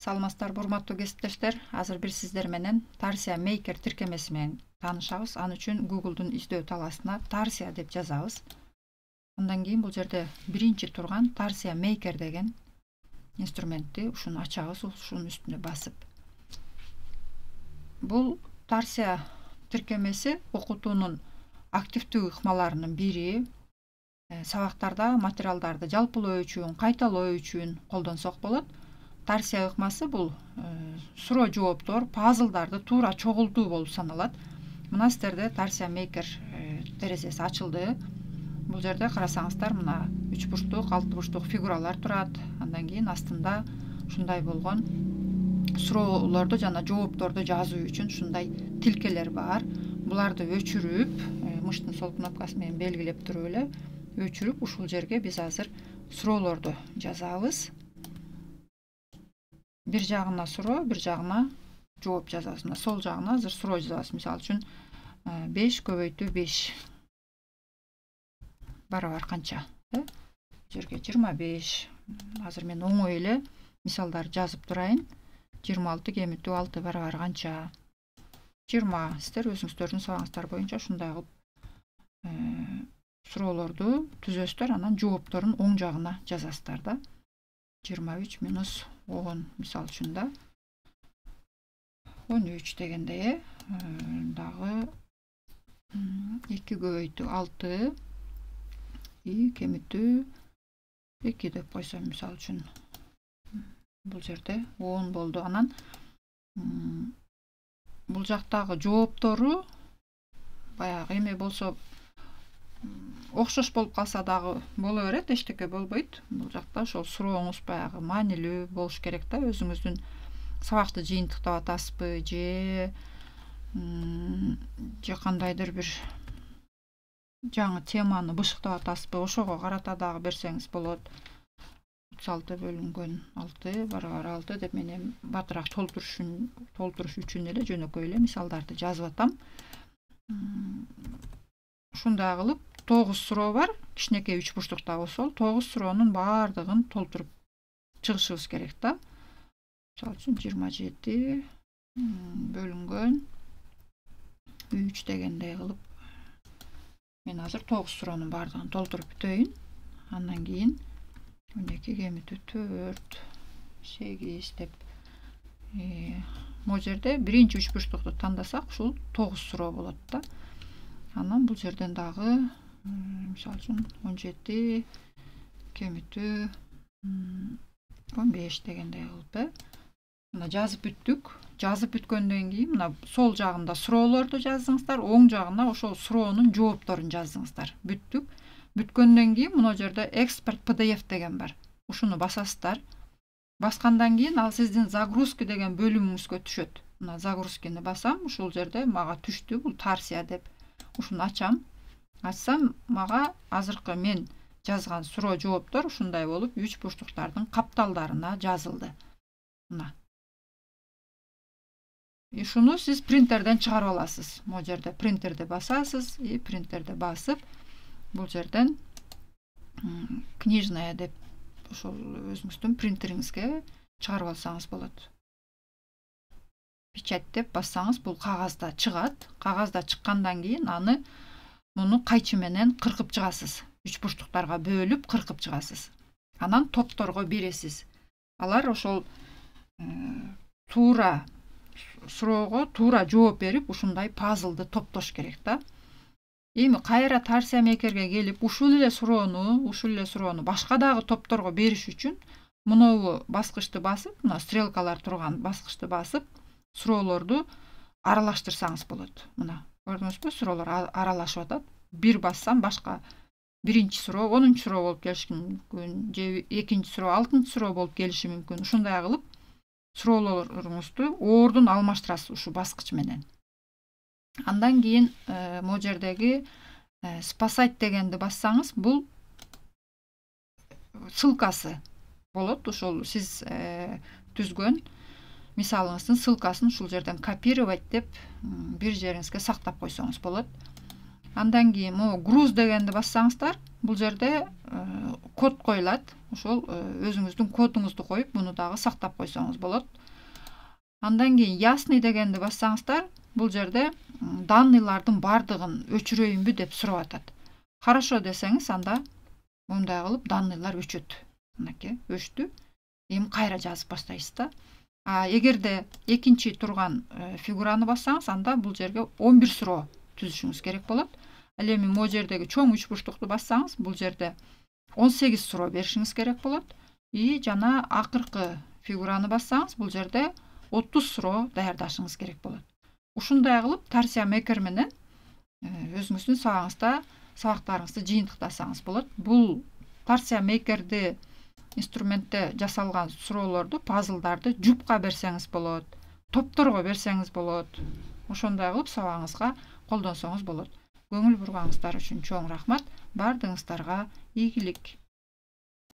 Саламатсыздарбы урматтуу кесиптештер. Азыр бир сиздер менен Tarsia Maker тиркемеси менен таанышабыз. Аны үчүн Google'дун издөө талаасына Tarsia деп жазабыз. Андан кийин бул жерде биринчи турган Tarsia Maker деген инструментти ушуну ачабыз, ушунун үстүнө басып. Бул Tarsia тиркемеси окутуунун активдүү ыкмаларынын бири. Сабактарда материалдарды жалпылоо үчүн, кайталоо үчүн колдонсок болот. Tarsia ыкмасы бул суроо жооптор, пазлдарды туура чогултуу болуп саналат. Мына сиздерде Tarsia Maker терезеси ачылды. Бул жерде карасаңыздар, мына 3 бурчтук, 6 бурчтук фигуралар турат. Андан кийин астында ушундай болгон суроолорду жана жоопторду жазуу үчүн ушундай тилкелер бар. Буларды өчүрүп, мыштын сол кнопкасы менен белгилеп туруп эле өчүрүп, ушул жерге биз азыр суроолорду жазабыз. Бир жагына суроо, бир жагына жооп жазабыз. Мына сол жагына азыр суроо жазабыз. Мисалы үчүн 5 көбөйтүү 5 барабар канча? Жерге 25. Азыр мен оңой эле мисалдар жазып турайын. 26 кемитүү 6 барабар канча? 20. Сиздер өзүңүздөрдүн сабагыңыздар боюнча ушундай кылып суроолорду түзөсүздөр, анан жоопторун оң жагына жазасыздар да. 23 минус 10 мисал үчүн да 13 дегенде дагы 2 көбөйтүү 6 кемитүү 2 деп койсом мисал үчүн бул жерде 10 болду. Анан бул жактагы жооптору баягы эме болсо окшош болуп калса дагы боло берет, эчтеке болбойт. Бул жакта ошол сурооңуз баягы маанилүү болуш керек да. Өзүңүздүн сабакты жыйынтыктап атасызбы же кандайдыр бир жаңы теманы бышыктап атасызбы, ошого карата дагы берсеңиз болот. 36 бөлүнгөн 6 барабар 6 деп мен батыраак толтуруш үчүн эле жөнөкөй эле мисалдарды жазып атам. Ушундай кылып 9 суроо бар. Кичинекей 3 бурчтукта болсо 9 суроонун баардыгын толтуруп чыгышыбыз керек да. Мисалы үчүн 27 бөлүнгөн 3 дегендей кылып мен азыр 9 суроонун баардыгын толтуруп бүтөйүн. Андан кийин 12 кемитүү 4 8 деп могу жерде биринчи 3 бурчтукту тандасак ушул 9 суроо болот да. Анан бул жерден дагы мисалы үчүн 17 кемитүү 15 дегендей кылып мына жазып бүттүк. Жазып бүткөндөн кийин мына сол жагында суроолорду жаздыңыздар, оң жагына ошол суроонун жоопторун жаздыңыздар. Бүттүк. Бүткөндөн кийин мына жерде экспорт PDF деген бар. Ушуну басасыздар. Баскандан кийин ал сиздин загрузки деген бөлүмүңүзгө түшөт. Мына загрузкини басам, ушул жерде мага түштү, бул Tarsia деп. Ушуну ачам. Ачсам, мага азыркы мен жазган суроо жооптор ушундай болуп 3 бурчтуктардын капталдарына жазылды. Мына. Ушуну сиз принтерден чыгарып аласыз. Могу жерде принтерди басасыз и принтерди басып, бул жерден книжная деп ошол өзүңүздүн принтериңизге чыгарып алсаңыз болот. Печать деп бассаңыз бул кагазда чыгат. Кагазда чыккандан кийин аны муну кайчы менен кыркып чыгасыз. 3 бурчтуктарга бөлүп кыркып чыгасыз. Анан топторго бересиз. Алар ошол туура суроого туура жооп берип, ушундай пазлды топтош керек да. Эми кайра Tarsia Makerге келип, ушул эле суроону башка дагы топторго бериш үчүн мынобу баскычты басып, мына стрелкалар турган баскычты басып, суроолорду аралаштырсаңыз болот. Мына, көрдүңүзбү? Суроолор аралашып атат. Бир бассам башка биринчи суроо 10-чу суроо болуп келиши мүмкүн, же экинчи суроо 6-чы суроо болуп келиши мүмкүн. Ушундай кылып суроолоруңузду ордун алмаштырасыз ушу баскыч менен. Андан кийин могу жердеги спасать дегенди бассаңыз, бул ссылкасы болот. Ошол сиз түзгөн мисалыңыздын ссылкасын ушул жерден копировать деп бир жериңизге сактап койсоңуз болот. Андан кийин могу груз дегенди бассаңыздар, бул жерде код коюлат. Ошол өзүңүздүн кодуңузду коюп, муну дагы сактап койсоңуз болот. Андан кийин ясный дегенди бассаңыздар, бул жерде данныйлардын бардыгын өчүрөйүнбү деп сурап атат. Хорошо десеңиз, анда мындай кылып данныйлар өчөт. Мынакей өчтү. Эми кайра жазып баштайсыз да. Эгерде экинчи турган фигураны бассаңыз, анда бул жерге 11 суроо түзүшүңүз керек болот. Ал эми могу жердеги чоң үч бурчтукту бассаңыз, бул жерде 18 суроо беришиңиз керек болот. Жана акыркы фигураны бассаңыз, бул жерде 30 суроо даярдашыңыз керек болот. Ушундай кылып Tarsia Maker менен өзүңүздүн сабагыңызда сабактарыңызды жыйынтыктасаңыз болот. Бул Tarsia Maker'ди инструментте жасалган суроолорду, пазлдарды жупка берсеңиз болот, топторго берсеңиз болот. Ошондой кылып сабагыңызга колдонсоңуз болот. Көңүл бурганыңыздар үчүн чоң рахмат. Бардыгыңыздарга ийгилик.